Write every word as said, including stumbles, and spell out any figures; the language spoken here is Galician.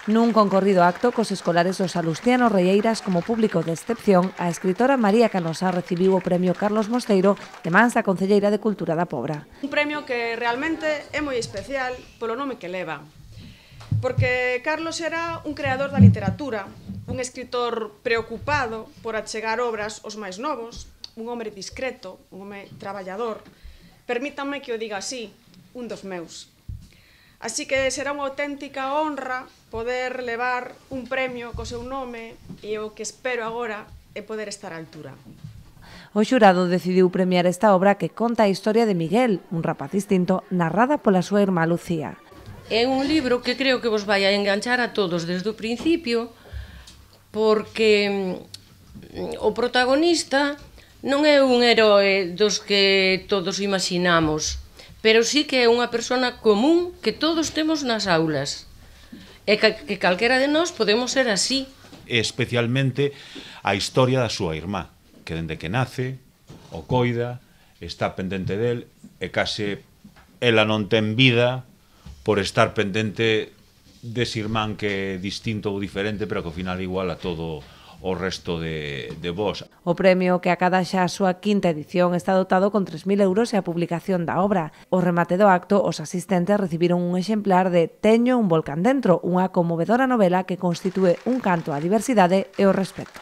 Nun concorrido acto cos escolares dos Salustianos Reieiras como público de excepción, a escritora María Canosa recibiu o premio Carlos Mosteiro de mans da Concelleira de Cultura da Pobra. Un premio que realmente é moi especial polo nome que leva, porque Carlos era un creador da literatura, un escritor preocupado por achegar obras aos máis novos, un home discreto, un home traballador, permítanme que o diga así, un dos meus. Así que será unha auténtica honra poder levar un premio co seu nome e o que espero agora é poder estar á altura. O xurado decidiu premiar esta obra que conta a historia de Miguel, un rapaz distinto, narrada pola súa irmá Lucía. É un libro que creo que vos vai a enganchar a todos desde o principio, porque o protagonista non é un heroe dos que todos imaginamos, pero sí que é unha persona común que todos temos nas aulas, e que calquera de nós podemos ser así. Especialmente a historia da súa irmá, que dende que nace, o coida, está pendente del, e case ela non ten vida por estar pendente dese irmán que é distinto ou diferente, pero que ao final igual a todo o resto de, de vos. O premio, que acada xa a súa quinta edición, está dotado con tres mil euros e a publicación da obra. O remate do acto, os asistentes recibiron un exemplar de Teño un volcán dentro, unha conmovedora novela que constitúe un canto á diversidade e ao respeto.